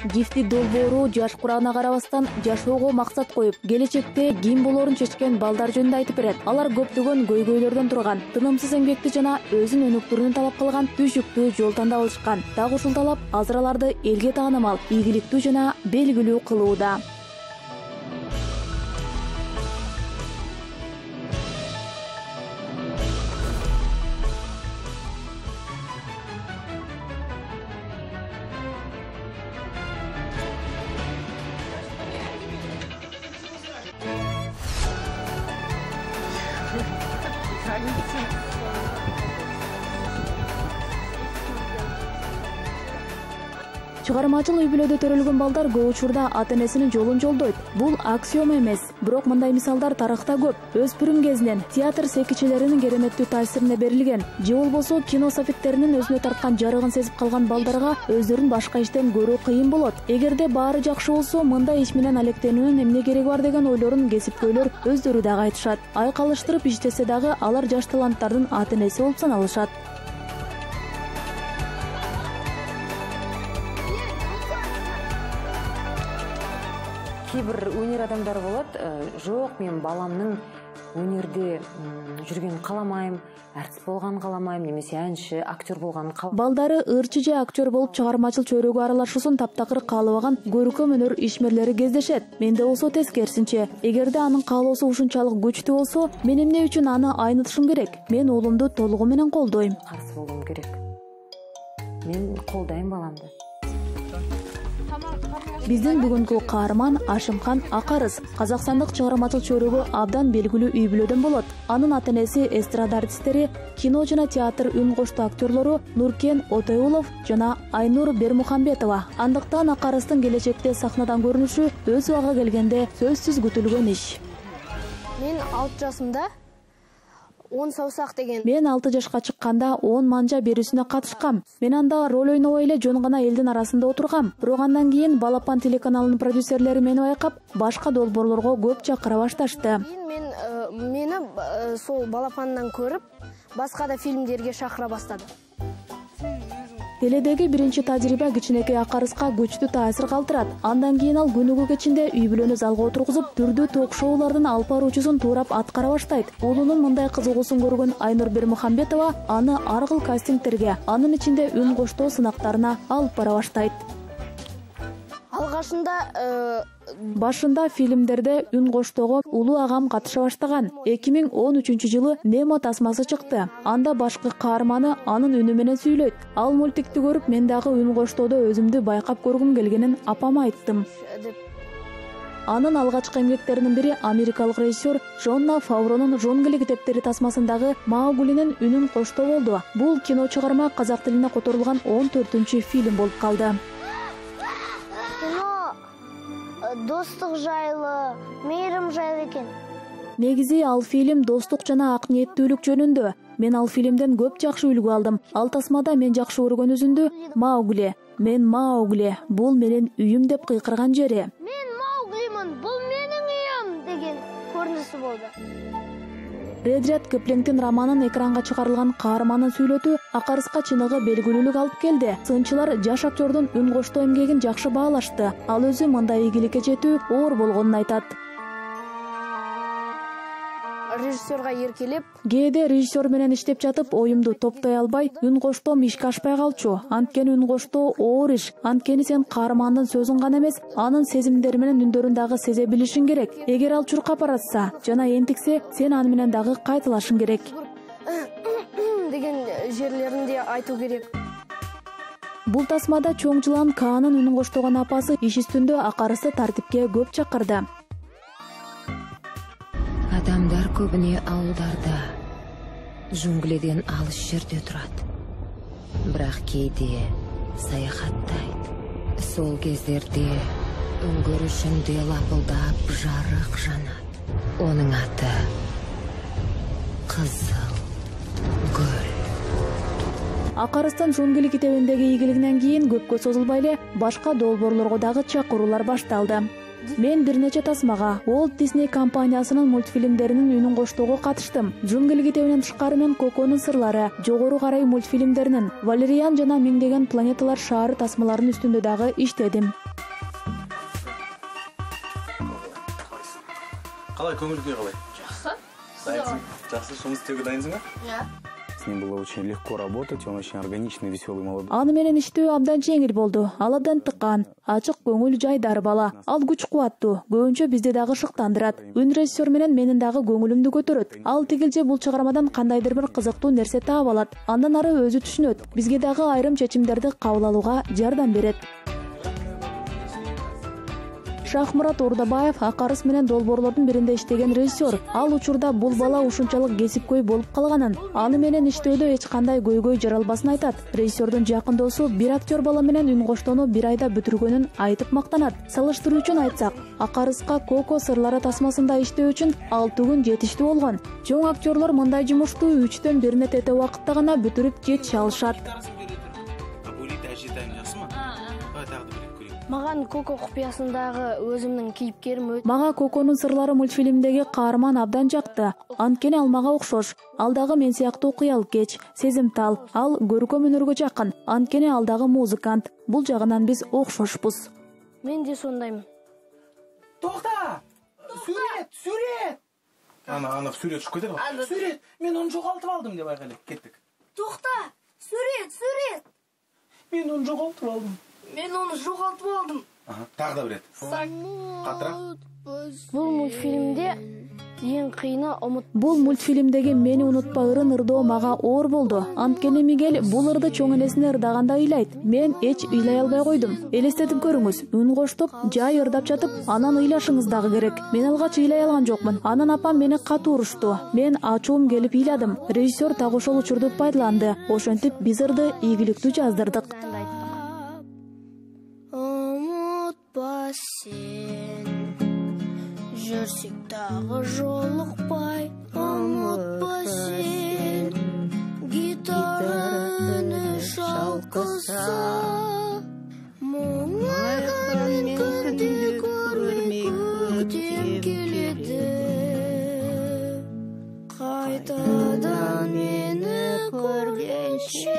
Гифти долбоору жаш курагына карабастан жашоого максат коюп, келечекте ким болоорун чечкен балдар жөнүндө айтып берет. Алар көптөгөн көйгөйлөрдөн турган, тынымсыз эмгекти жана өзүн өнүктүрүүнү талап кылган түшүктүү жол тандап алышкан. Дагы ушул талап азыр аларды элге таанымал, ийгиликтүү жана белгилүү кылууда. Чыгармачыл үй-бүлөдө төрөлгөн балдар көп учурда ата-энесинин жолун жолдойт. Бул аксиома эмес, бирок мындай мисалдар тарыхта көп. Өспүрүм кезинен театр секичилеринин кереметтүү таасирине берилген, же болбосо кино софиттеринин өзүнө тарткан жарыгын сезип калган балдарга өздөрүн башка иштен көрүү кыйын болот. Эгерде баары жакшы болсо, мындай иш менен алектенүүнүн эмне кереги бар деген ойлорун кесипкөйлөр өздөрү дагы айтышат. Айкалыштырып иштесе дагы алар жаш таланттардын ата-энеси болуп саналышат. Кээ бир өнер адамдары болот, жок, мен баламдын өнөрдө жүргөнүн кааламайм, артист болгонун кааламайм, немесе әнчи, актер болгонун кааламайм. Балдары ырчы же актер болуп чыгармачыл чөйрөгө аралашуусун таптакыр каалабаган көркөм өнөр ишмерлери кездешет. Менде болсо тескерисинче. Эгерде анын каалоосу ушунчалык күчтүү болсо, мен эмне үчүн аны айнытышым керек? Мен уулумду толугу менен колдойм. Каршы болуум керек. Мен колдойм баламды. Биздин бүгүнкү каарман Ашимхан Акарыс казакстандык чыгармачыл чөйрөгө абдан белгилүү үй-бүлөдөн болот. Анын ата-энеси эстрада артисттери, кино жана театр үн коштуу актерлору Нуркен Отоюлов жана Айнур Бермухамбетова. Андыктан Акарыстын келечекте сахнадан көрүнүшү өз убагы келгенде сөзсүз күтүлгөн иш. Мен 6 жашымда 10 саусак деген. Мен 6 жашка чыкканда 10 манжа берүүсүнө катышкам. Мен анда роль ойнобой эле жөн гана элдин арасында отургам. Бирок андан кийин Балапан телеканалынын продюсерлери мени байкап, башка долбоорлорго көп чакыра башташты. Мени сол Балапандан көрүп, башка да фильмдерге чакыра баштады. Теледеги биринчи тажрыйба кичинекей Акарыска күчтүү таасир калтырат. Андан кийин ал күнүгү кечинде үй-бүлөнү залга отургузуп, түрдүү ток-шоулардын алып баруучусун туурап аткара баштайт. Уулунун мындай кызыгуусун көргөн Айнур Бермухамбетова аны ар кыл кастингтерге, анын ичинде үн коштоо сынактарына алып бара баштайт. Башында фильмдерде үн коштоого улуу агам катыша баштаган. 2013-жылы Немо тасмасы чыкты. Анда башкы каарманы анын үнү менен сүйлөйт. Ал мультикти көрүп, мен дагы үн коштоодо өзүмдү байкап көргүм келгенин апама айттым. Анын алгачкы эмгектеринин бири америкалык режиссер Джонна Фавронун Жунгли китептери тасмасындагы Мауглинин үнүн коштоо болду. Бул кино чыгарма казак тилине которулган 14-фильм болуп калды. Достук жайлы, мейрим жайлы экен. Негизи ал фильм достук жана ак ниеттүүлүк жөнүндө. Мен ал фильмден көп жакшы үлгү алдым. Ал тасмада мен жакшы көргөн үзүндү Маугли, мен Маугли, бул менин үйүм деп кыйкырган жери. Мен Мауглимин, бул менин үйүм деген көрүнүшү болду. Редряд Киплингдин романын экранга чыгарылган каарманын сүйлөтүү Акарыска чыныгы белгилүүлүк алып келди. Сынчылар жаш актердун үн коштоо эмгегин жакшы баалашты. Ал өзү мындай ийгиликке жетүү оор болгонун айтат. Режиссерга эркелеп, кээде режиссер менен иштеп жатып оюмду топтой албай, үн коштоом ишке ашпай калчу. Анткени үн коштоо оор иш. Анткени сен каармандын сөзүн гана эмес, анын сезимдери менен үндөрүн дагы сезе билишиң керек. Эгер ал чуркап баратса жана энтиксе, сен аны менен дагы кайталашың керек. деген жерлеринде айтуу керек. Бул тасмада чоң жылан Каанын үнүн коштогон апасы иш үстүндө Акарысты тартипке көп чакырды. Адамдар көбүнө ауылдарда, жунгледен алыс жерде турат. Бирок кээде саякаттайт. Сол кездерде өңгөрүшүндө лапылдап жарык жанат. Онун аты Кызыл көл. Акарыстын Жунгли китебиндеги ийгилигинен кийин көпкө созулбай эле башка долбоорлорго дагы чакыруулар башталды. Мен бир нече тасмага Walt Disney компаниясынын мультфильмдеринин үнүн коштоого катыштым. Жунгел китебинен тышкары мен Коконун сырлары, Жогору карай мультфильмдеринин, Валериан жана Миңдеген планеталар шаары тасмаларынын үстүндө дагы иштедим. Қалай көңіл күй қалай? Жақсы. Дайынсың? Жақсы, жұмыс істеуге дайынсың ба? Иә. С ним было очень легко работать, он очень органичный, веселый, молодой. Аны менен иштөө абдан жеңил болду. Ал абдан тыккан, ачык көңүл, жайдар бала. Ал күч кубаттуу, көбүнчө бизди дагы шыктандырат. Үн режиссер менен менин дагы көңүлүмдү көтөрөт. Ал тигилже бул чыгармадан кандайдыр бир кызыктуу нерсе таап алат. Андан ары өзү түшүнөт. Бизге дагы айрым чечимдерди кабыл алууга жардам берет. Шахмурат Ордабаев Акарыс менен долбоорлордун биринде иштеген режиссер. Ал учурда бул бала ушунчалык кесипкөй болуп калганын, аны менен иштөөдө эч кандай көйгөй жаралбасын айтат. Режиссердун жакын досу бир актер бала менен үн коштоону бир айда бүтүргөнүн айтып мактанат. Салыштыруу үчүн айтсак, Акарыска Коко сырлары тасмасында иштөө үчүн 6 күн жетиштүү болгон. Чоң актерлор мындай жумушту 3-төн 1 тете убакытта гана бүтүрүп жетише алышат. Маған Коко купуясындагы өзүмдүн кейипкерим өтө. Мага Коконун сырлары мультфильмдеги каарман абдан жакты. Анткени ал мага окшош. Ал дагы мен сыяктуу кыялкеч, сезимтал. Ал көркөм өнөргө жакын. Анткени ал дагы музыкант. Бул жагынан биз окшошпуз. Мен де сондаймын. Тоқта! Сүрет! Ана сүрет ұшып кетеді ғой. Сүрет! Мен оны жоғалтып алдым деп айқайлап кеттік. Тоқта! Сүрет! Мен оны жоғалтып алдым. Тағы да бір рет. Қатырақ. Бул мультфильмде эң кыйыны Бул мультфильмдеги мени унутпа ырын ырдоо мага оор болду. Анткени Мигель бул ырды чоң энесине ырдаганда ыйлайт. Мен эч ыйлай албай койдум. Элестетип көрүңүз. Үн коштоп, жай ырдап жатып, анан ыйлашыңыз дагы керек. Мен алгач ыйлай алган жокмун. Анан апам мени катуу урушту. Мен ачуум келип ыйладым. Режиссер так ошол учурду пайдаланды. Ошентип биз ырды ийгиликтүү жаздырдык. Сен жүрсек тағы жолықпай, ұмытпа сен гитара үні шалқыса, мұңайған күнде көрмей көтем келеді, қайтадан мені көргенше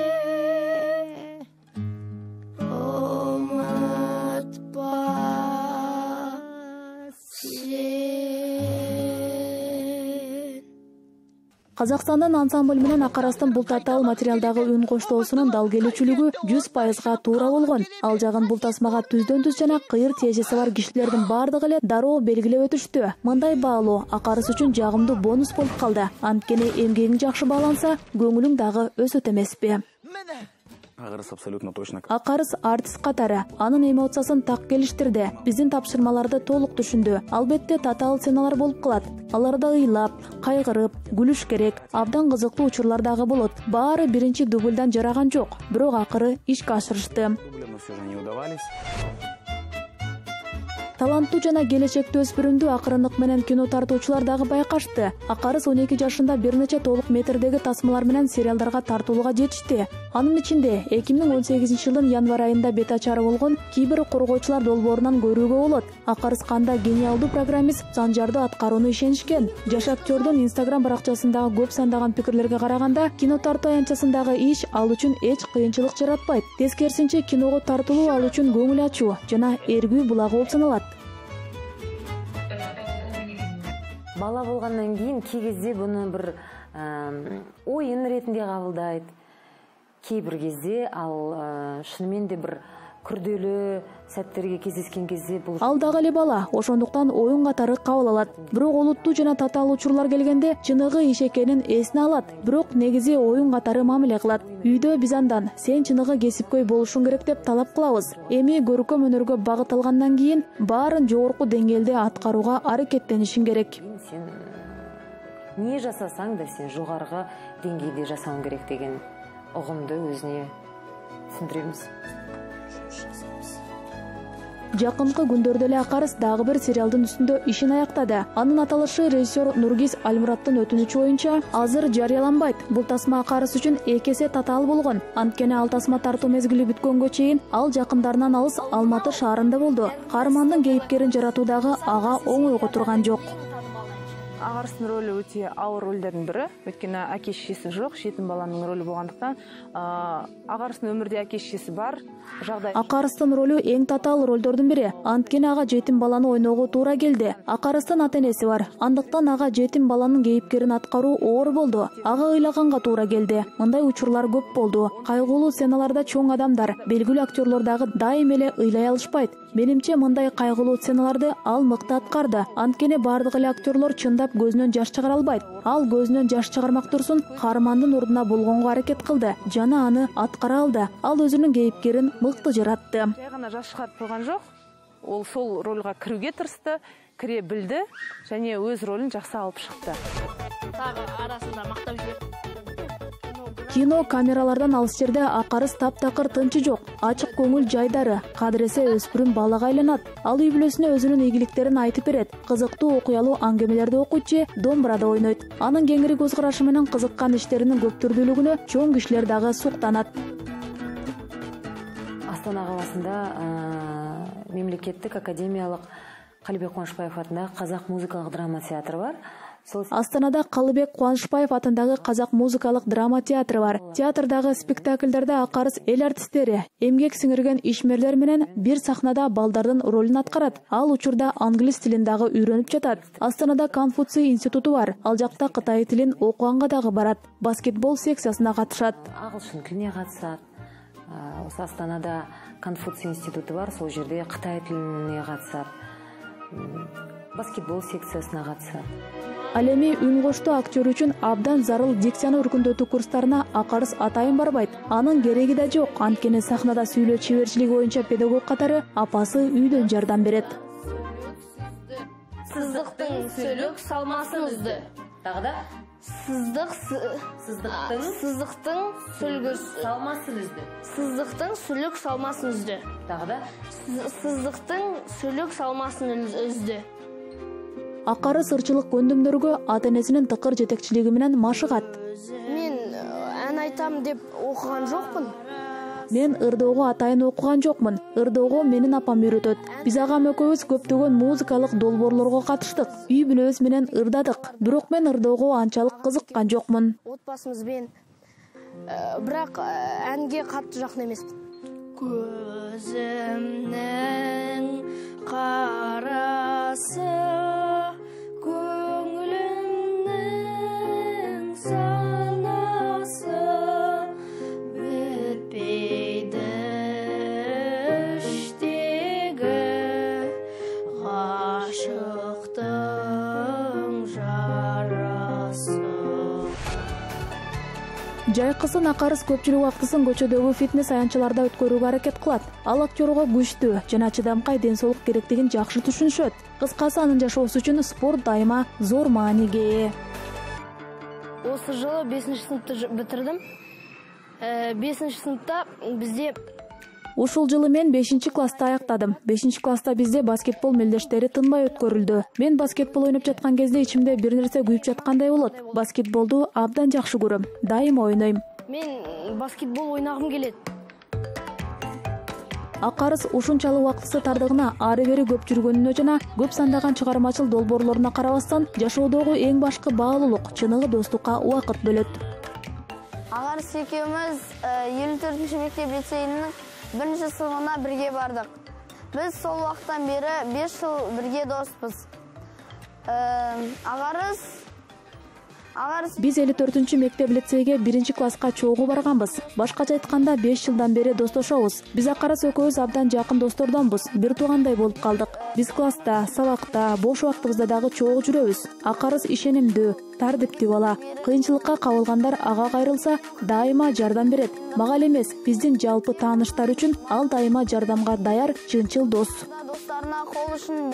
Казакстандын ансамбль менен Акарастын бул татаал материалдагы үн коштоосунун дал келүүчүлүгү 100% туура болгон. Ал жагын бул тасмага түздөн-түз жана кыйыр тиешеси бар кишилердин бардыгы эле дароо белгилеп өтүштү. Мындай баалоо Акарыс үчүн жагымдуу бонус болуп калды. Анткени эмгегиң жакшы бааланса, көңүлүң дагы өсөт эмеспи? Акарыс абсолютно точно. Акарыс артист катары анын эмоциясын так келиштирди. Биздин тапшырмаларды толук түшүндү. Албетте татаал сценалар болуп калат. Аларда ыйлап, кайгырып, күлүш керек. Абдан кызыктуу учурлар дагы болот. Баары биринчи дубльдан жараган жок. Бирок акыры ишке ашырышты. Таланттуу жана келечектүү өспүрүмдү акырындык менен кино тартуучулар дагы байкашты. Акарыс 12 жашында бир нече толук метрдеги тасмалар менен сериалдарга тартуулууга жетишти. Анын ичинде 2018-жылдын январь айында бет ачары болгон Кибер коргоочулар долбоорунан көрүүгө болот. Акарыс кандай гениалдуу программист, занжарды аткарууну ишенишкен. Жаш актердун Instagram баракчасындагы көп сандаган пикирлерге караганда, кино тартуу аянтчасындагы иш ал үчүн эч кыйынчылык жаратпайт. Тескерисинче киного тартылуу ал үчүн көңүл ачуу жана эргүү булагы болуп саналат. Бала болгандан кийин кей кезде буну бир оюн ретинде кабылдайт. Кей бир кезде ал шынымен де бир күрдөлүү сәттерге кездескен кезде бул ал дагы эле бала, ошондуктан оюн катары кабыл алат. Бирок олуттуу жана татаал учурлар келгенде чыныгы иш экенин эсине алат. Бирок негизи оюн катары мамиле кылат. Үйдө биз андан сен чыныгы кесипкөй болушуң керек деп талап кылабыз. Эми көркөм өнөргө багыт алгандан кийин баарын жогорку деңгээлде аткарууга аракеттенишиң керек. Сен не жасасаң да сен жогорку деңгээлде жасауың керек деген угумду өзүнө түсүндүрөбүз. Жакынкы күндөрдө эле Акарыс дагы бир сериалдын үстүндө ишин аяктады. Анын аталышы режиссер Нургиз Альмураттын өтүнүчү боюнча азыр жарыяланбайт. Бул тасма Акарыс үчүн эки эсе татаал болгон. Анткени ал тасма тартуу мезгили бүткөнгө чейин ал жакындарынан алыс Алматы шаарында болду. Каармандын кейипкерин жаратуудагы ага оңойго турган жок. Акарыстын ролу өтө ауыр ролдордун бири. Өткөнү аке шешеси жок, жетим баланын ролу болгондуктан Акарыстын өмүрдө аке шешеси бар. Акарыстын ролу эң татаал ролдордун бири. Анткени ага жетим баланы ойноого туура келди. Акарыстын ата-энеси бар. Андыктан ага жетим баланын кейипкерин аткаруу оор болду. Ага ыйлаганга туура келди. Мындай учурлар көп болду. Кайгылуу сценаларда чоң адамдар, белгилүү актерлор дагы дайым эле ыйлай алышпайт. Менимче мындай кайгылуу сценаларды ал мыкты аткарды. Анткени бардык эле актерлор чындап көзүнөн жаш чыгара албайт. Ал көзүнөн жаш чыгармак турсун каармандын ордуна болгонго аракет кылды жана аны аткара алды. Ал өзүнүн кейипкерин мыкты жаратты. Жай гана жаш чыгарып койгон жок. Ол сол ролго кирүүгө тырышты, кире билди және өз ролун жакшы алып чыкты. Тагы арасында мактап жүрөт. Кино камералардан алыс жерде Акарыс таптакыр тынчы жок. Ачык көңүл жайдары, кадыресе өспүрүм балага айланат. Ал үй бүлөсүнө өзүнүн ийгиликтерин айтып берет. Кызыктуу окуялуу аңгемелерди окуйт, домбурада ойнойт. Анын кеңири көз карашы менен кызыккан иштеринин көптүрдүүлүгүнө чоң кишилер дагы суктанат. Астана каласында мемлекеттик академиялык Калыбек Кубанышбаев атындагы Казак музыкалык драма театры бар. Астанада Калыбек Кубанышбаев атындагы Казак музыкалык драма театры бар. Театрдагы спектакльдерде Акарыс эл артисттери, эмгек сиңирген ишмерлер менен бир сахнада балдардын ролун аткарат. Ал учурда англис тилин дагы үйрөнүп жатат. Астанада Конфуций институту бар. Ал жакта Кытай тилин окуганга дагы барат. Баскетбол секциясына катышат. Агылшын тилине катышат. Осы Астанада Конфуций институту бар, сол жерде Кытай тилине катышат. Баскетбол секциясына катышат. Ал эми үн коштоо актер үчүн абдан зарыл дикцияны өркүндөтүү курстарына Акарыс атайын барбайт. Анын кереги да жок, анткени сахнада сүйлөө чеберчилиги боюнча педагог катары апасы үйдөн жардам берет. Сыздыктын сүлүк салмасын үзді. Дагы да Сыздыктын сүлүк салмасын үзді. Сыздыктын сүлүк салмасын үзді. Дагы да Сыздыктын сүлүк салмасын үзді. Акарыс ырчылык көндүмдөргө ата-энесинин тыкыр жетекчилиги менен машыгат. Мен ан айтам деп окуган жокмун. Мен ырдоого атайын окуган жокмун. Ырдоого менин апам үйрөтөт. Биз агам экөөбүз көптөгөн музыкалык долбоорлорго катыштык. Үй бүлөбүз менен ырдадык. Бирок мен ырдоого анчалык кызыккан жокмун. Отбасыбызбен бирок анге катты жакын эмесмин. Көзүмнүн карасы көңүлүмнүн санасы бүтпөйдү иштеги гашыктын жарасы. Жайкысын Акарыс көпчүлүк убактысын көчөдөгү фитнес аянтчаларда өткөрүүгө аракет кылат. Ал актерго күчтүү жана чыдамкай ден соолук керектигин жакшы түшүнүшөт. Кыскасы анын жашоосу үчүн спорт дайыма зор мааниге ээ. Осы жылы 5-сыныпты битирдим. 5-сыныпта бизде Ушул жылы мен 5-класста аяктадым. 5-класста бизде баскетбол мелдештери тынбай өткөрүлдү. Мен баскетбол ойноп жаткан кезде ичимде бир нерсе күйүп жаткандай болот. Баскетболду абдан жакшы көрөм. Дайым ойнойм. мен баскетбол ойнагым келет. Акарыс ушунчалык убактысы тардыгына ары-бери көп жүргөнүнө жана көп сандаган чыгармачыл долбоорлоруна карабастан жашоодогу эң башкы баалуулук, чыныгы достукка убакыт бөлөт. Акарыс экөөбүз 54-мектеп лицейинин 1-сыныбына бирге бардык. Биз сол убакыттан бери 5 жыл бирге доспуз. Биз 54-мектеп лицейге 1-класска чогуу барганбыз. Башкача айтканда 5 жылдан бери достошобуз. Биз Акарыс экөөбүз абдан жакын достордонбуз. Бир туугандай болуп калдык. Биз класста, сабакта, бош убактыбызда дагы чогуу жүрөбүз. Акарыс ишенимдүү, тартиптүү бала. Кыйынчылыкка кабылгандар ага кайрылса, дайыма жардам берет. Мага эле эмес, биздин жалпы тааныштар үчүн ал дайыма жардамга даяр чынчыл дос. Достарына кол ушун,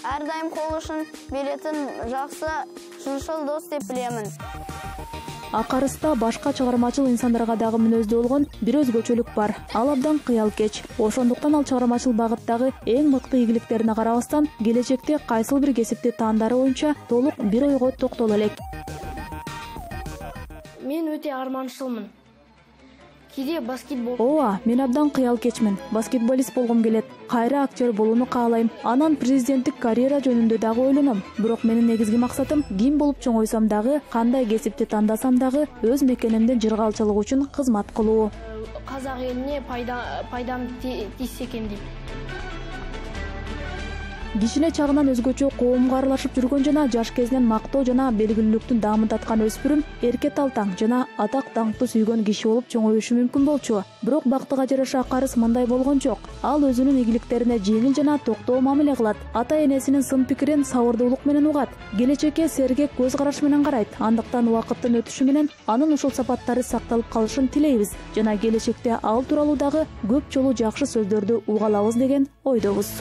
ар дайым кол ушун беретин жакшы, чынчыл дос деп билемин. Акарыста башка чыгармачыл инсандарга дагы мүнөздүү болгон бир өзгөчөлүк бар. Ал абдан кыялкеч. Ошондуктан ал чыгармачыл багыттагы эң мыкты ийгиликтерине карабастан, келечекте кайсыл бир кесипти тандары боюнча толук бир ойго токтоло элек. Мен өтө арманчылмын. Кийде баскетбол. Ооба, мен абдан кыялкечмин. Баскетболист болгум келет. Кайра актер болууну каалайм. Анан президенттик карьера жөнүндө дагы ойлоном. Бирок менин негизги максатым ким болуп чоңойсом дагы, кандай кесипти тандасам дагы өз мекенемдин жыргалчылыгы үчүн кызмат кылуу. Казак элине пайдам тийсе экен дейт. Кичине чагынан өзгөчө коомго аралашып жүргөн жана жаш кезинен мактоо жана белгилүүлүктү даамдаткан өспүрүм эрке талтаң жана атак даңкты сүйгөн киши болуп чоңоюшу мүмкүн болчу. Бирок бактыга жараша Акарыс мындай болгон жок. Ал өзүнүн ийгиликтерине жеңил жана токтоо мамиле кылат. Ата-энесинин сын пикирин сабырдуулук менен угат. Келечекке сергек көз караш менен карайт. Андыктан убакыттын өтүшү менен анын ушул сапаттары сакталып калышын тилейбиз жана келечекте ал тууралуу дагы көп жолу жакшы сөздөрдү уга алабыз деген ойдобуз.